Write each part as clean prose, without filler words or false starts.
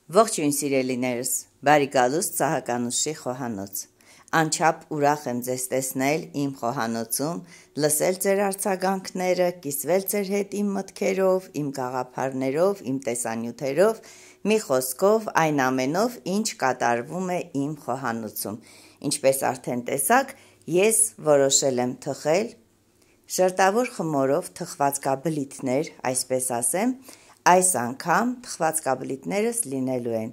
Ողջույն սիրելիներս, բարի գալուստ Սահականուշի խոհանոց։ Անչափ ուրախ եմ ձեզ տեսնել իմ խոհանոցում, լսել ձեր արձագանքները, կիսվել ձեր հետ իմ մտքերով, իմ գաղափարներով, իմ տեսանյութերով, մի խոսքով այն ամենով, ինչ կատարվում է իմ խոհանոցում։ Ինչպես արդեն տեսաք, ես որոշել եմ թխել շերտավոր խմորով թխվածքաբլիթներ, այսպես ասեմ, այս անգամ թխվածքաբլիթներս լինելու են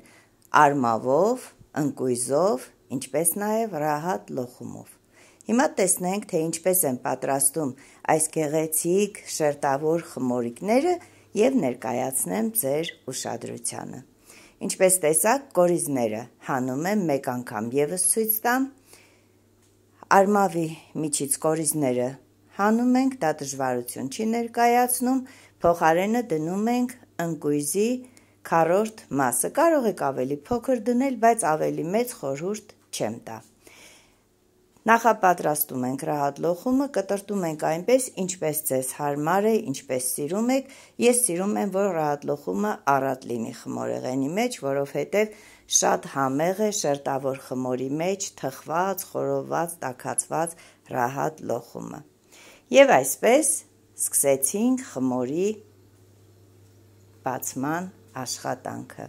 արմավով, ընկույզով, ինչպես նաև ռահատ լոխումով։ Հիմա տեսնենք, թե ինչպես են պատրաստում այս գեղեցիկ շերտավոր խմորիկները և ներկայացնեմ ձեր ուշադրությանը։ Ինչպես տեսաք, կորիզները հանում եմ մեկ անգամ ևս ցույց տամ։ Արմավի միջից կորիզները հանում ենք, դա դժվարություն չի ներկայացնում, փոխարենը դնում ենք ընկույզի քառորդ մասը, կարող եք ավելի փոքր դնել, բայց ավելի մեծ խորհուրդ չեմ տա։ Նախապատրաստում ենք ռահատ լոխումը, կտրտում ենք այնպես, ինչպես ձեզ հարմար է, ինչպես սիրում եք։ Ես սիրում եմ, որ ռահատ լոխումը առատ լինի խմորեղենի մեջ, որովհետև շատ համեղ է շերտավոր խմորի մեջ թխված, խորոված, տաքացված ռահատ լոխումը։ Եվ այսպես սկսեցինք խմորի բացման աշխատանքը։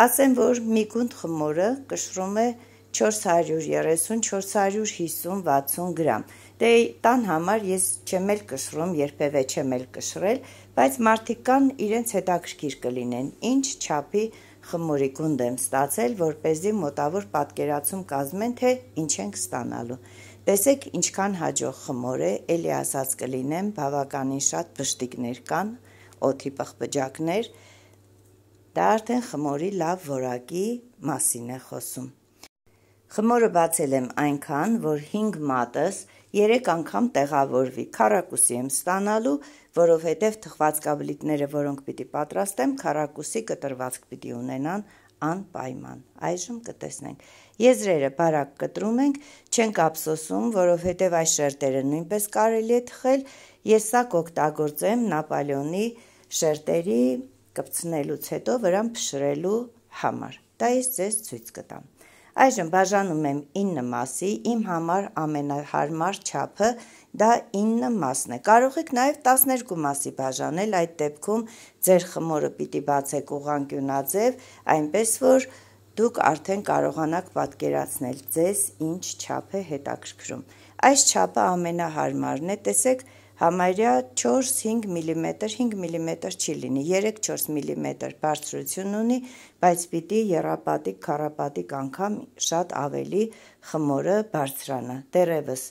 Ասեմ, որ մի գունդ խմորը կշռում է 430, 450, 60 գրամ։ Դե տան համար ես չեմ էլ կշռում, երբևէ չեմ էլ կշռել, բայց մարդիկ կան իրենց հետաքրքիր կլինեն, ինչ չափի խմորի գունդ եմ ստացել, որպեսզի մոտավոր պատկերացում կազմեն, թե ինչ ենք ստանալու։ Տեսեք ինչքան հաջող խմոր է, էլի ասած կլինեմ, բավականին շատ բշտիկներ կան, օդի պղպջակներ, դա արդեն խմորի լավ որակի մասին է խոսում։ Խմորը բացել եմ այնքան, որ 5 մատս 3 անգամ տեղավորվի, քառակուսի եմ ստանալու, որովհետև թխվածքաբլիթները, որոնք պիտի պատրաստեմ, քառակուսի կտրվածք պիտի ունենան անպայման։ Այժմ կտեսնենք։ Եզրերը բարակ կտրում ենք, չենք ափսոսում, որովհետև այս շերտերը նույնպես կարելի է թխել, ես սա կօգտագործեմ Նապոլեոնի շերտերի կպցնելուց հետո վրան փշրելու համար։ Դա ես ձեզ ցույց կտամ։ Այժմ բաժանում եմ 9 մասի, իմ համար ամենահարմար չափը դա 9 մասն է։ Կարող եք նաև 12 մասի բաժանել, այդ դեպքում ձեր խմորը պիտի բացեք ուղղանկյունաձև, այնպես որ դուք արդեն կարողանաք պատկերացնել ձեզ ինչ չափ է հետաքրքրում։ Այս չափը ամենահարմարն է, տեսեք, համարյա 4-5 մմ, 5 մմ չի լինի, 3-4 մմ բարձրություն ունի, բայց պիտի եռապատիկ, քառապատիկ անգամ շատ ավելի խմորը բարձրանա։ Դեռևս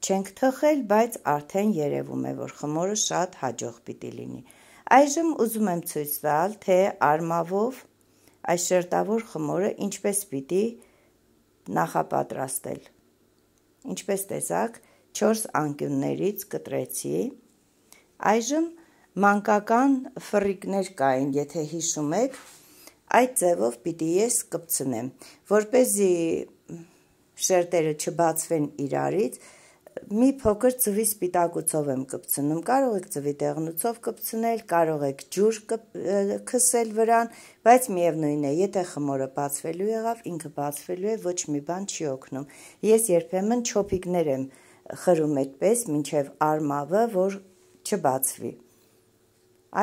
չենք թխել, բայց արդեն երևում է, որ խմորը շատ հաջող պիտի լինի։ Այժմ ուզում եմ ցույց տալ, թե արմավով այս շերտավոր խմորը ինչպես պիտի նախապատրաստել։ Ինչպես տեսաք, 4 անկյուններից կտրեցի։ Այժմ մանկական ֆռիկներ կային, եթե հիշում եք, այդ ձևով պիտի ես կպցնեմ, որպեսզի շերտերը չբացվեն իրարից, մի փոքր ձվի սպիտակուցով եմ կպցնում, կարող եք ձվի դեղնուցով կպցնել, կարող եք ջուր քսել վրան, բայց միևնույն է, եթե խմորը բացվելու եղավ, ինքը բացվելու է, ոչ մի բան չի օգնում։ Ես երբեմն չոփիկներ եմ խրում այդպես, մինչև արմավը, որ չբացվի։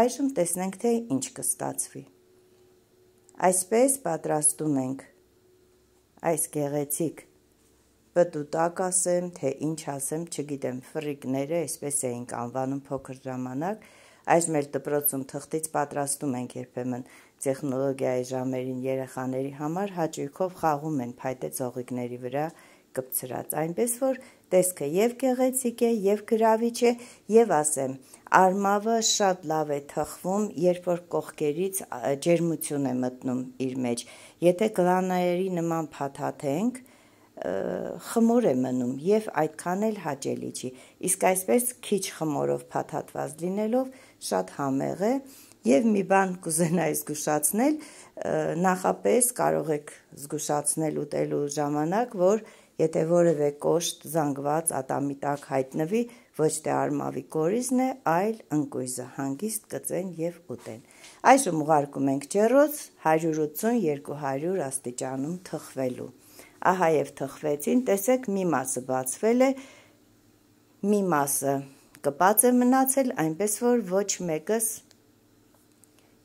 Այժմ տեսնենք, թե ինչ կստացվի։ Այսպես պատրաստում ենք այս գեղեցիկ պտուտակ ասեմ, թե ինչ ասեմ, չգիտեմ, ֆռիկները, այսպես էինք անվանում փոքր ժամանակ, այժմ էլ դպրոցում թղթից պատրաստում ենք երբեմն տեխնոլոգիայի ժամերին երեխաների համար, հաճույքով խաղում են փայտե ծաղիկների վրա կպցրած, այնպես որ տեսքը և գեղեցիկ է, և գրավիչ է, և ասեմ, արմավը շատ լավ է թխվում, երբ որ կողքերից ջերմություն է մտնում իր մեջ, եթե գլանայի նման փաթաթենք, խմոր է մնում և այդքան էլ հաճելի չի, իսկ այսպես քիչ խմորով փաթաթված լինելով շատ համեղ է և մի բան կուզենայի զգուշացնել, նախապես կարող եք զգուշացնել ուտելու ժամանակ, որ եթե որևէ կոշտ, զանգված ատամի տակ հայտնվի, ոչ թե արմավի կորիզն է, այլ ընկույզը, հանգիստ կծեն և ուտեն։ Այժմ ուղարկում ենք ջեռոց 180-200 աստիճանում թխվելու։ Ահա և թխվեցին, տեսեք մի մասը բացվել է, մի մասը կպած է մնացել, այնպես որ ոչ մեկս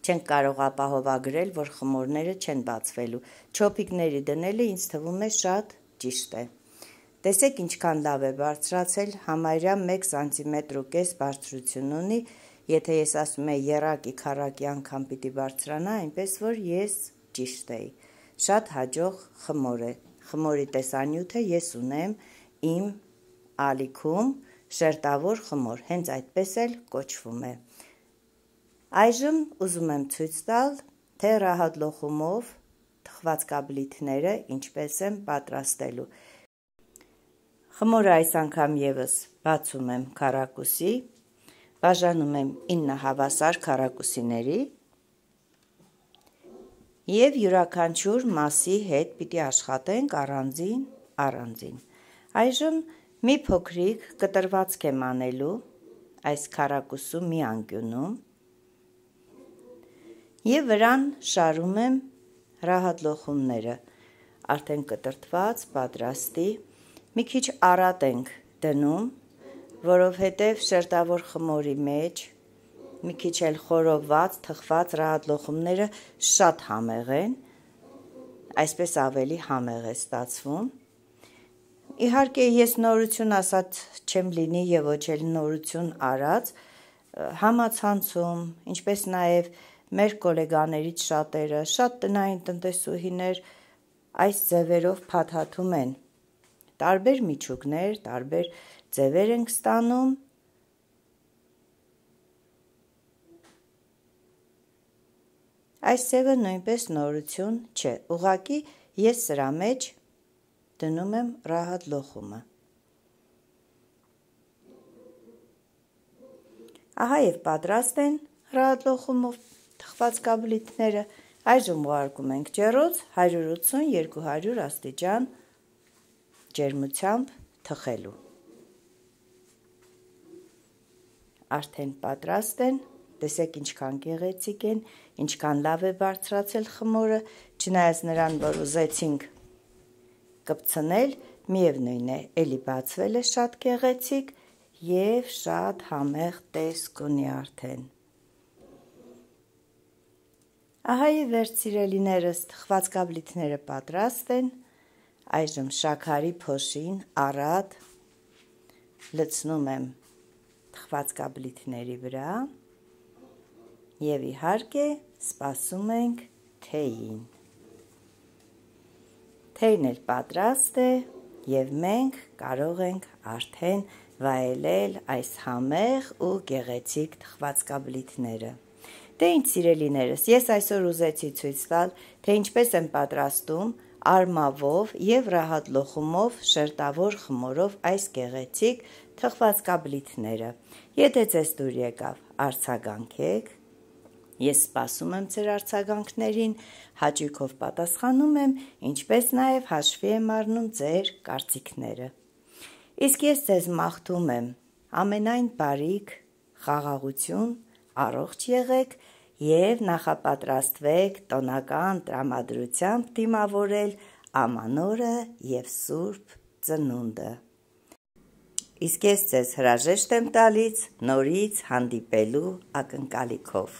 չենք կարող ապահովագրել, որ խմորները չեն բացվելու։ Չոփիկների դնելը ինձ թվում է շատ ճիշտ է։ Տեսեք ինչքան լավ է բարձրացել, համարյա 1 cm+5 բարձրություն ունի, եթե ես ասում եմ եռակի քառակի անգամ պիտի բարձրանա, այնպես որ ես ճիշտ էի։ Շատ հաջող խմոր է։ Խմորի տեսանյութը ես ունեմ իմ ալիքում, շերտավոր խմոր, հենց այդպես էլ կոչվում է։ Այժմ ուզում եմ ցույց տալ, թե ռահատ լոխումով թխված կաբլիթները ինչպես եմ պատրաստելու։ Խմորը այս անգամ ևս բացում եմ քառակուսի, բաժանում եմ 9 հավասար քառակուսիների և յուրաքանչյուր մասի հետ պիտի աշխատենք առանձին։ Այժմ մի փոքրիկ կտրվածք եմ անելու այս քառակուսու մի անկյունում և վրան շարում եմ ռահատ լոխումները, արդեն կտրտված, պատրաստի, մի քիչ արատ ենք դնում, որովհետև շերտավոր խմորի մեջ մի քիչ էլ խորոված, թխված ռահատ լոխումները շատ համեղ են, այսպես ավելի համեղ է ստացվում։ Իհարկե ես նորություն ասած չեմ լինի և ոչ էլ նորություն արած, համացանցում, ինչպես նաև մեր գոլեգաներից շատերը, շատ տնային տնտեսուհիներ այս ձևերով փաթաթում են, տարբեր միջուկներ, տարբեր ձևեր ենք ստանում, այս ձևը նույնպես նորություն չէ, ուղղակի ես սրա մեջ դնում եմ ռահատ լոխումը։ Ահա և պատրաստ են ռահատ լոխումով թխված կաբլիթները, այժմ ուղարկում ենք ջեռոց 180-200 աստիճան ջերմությամբ թխելու։ Արդեն պատրաստ են, տեսեք ինչքան գեղեցիկ են, ինչքան լավ է բարձրացել խմորը, չնայած նրան, որ ուզեցինք կպցնել, միևնույն է, էլի բացվել է շատ գեղեցիկ և շատ համեղ տեսք ունի արդեն։ Ահա և վերջ սիրելիներս, թխված կաբլիթները պատրաստ են, այժմ շաքարի փոշին առատ լցնում եմ թխված կաբլիթների վրա և իհարկե սպասում ենք թեյին։ Թեյն էլ պատրաստ է և մենք կարող ենք արդեն վայելել այս համեղ ու գեղեցիկ թխված կաբլիթները։ Դե ինչ սիրելիներս, ես այսօր ուզեցի ցույց տալ, թե ինչպես եմ պատրաստում արմավով և ռահատ լոխումով շերտավոր խմորով այս գեղեցիկ թխված կաբլիթները։ Եթե ձեզ դուր եկավ, արձագանքեք, ես սպասում եմ ձեր արձագանքներին, հաճույքով պատասխանում եմ, ինչպես նաև հաշվի եմ առնում ձեր կարծիքները։ Իսկ ես ձեզ մաղթում եմ ամենայն բարիք, խաղաղություն, առողջ եղեք և նախապատրաստվեք տոնական տրամադրությամբ դիմավորել ամանորը և Սուրբ Ծնունդը։ Իսկ ես ձեզ հրաժեշտ եմ տալիս նորից հանդիպելու ակնկալիքով։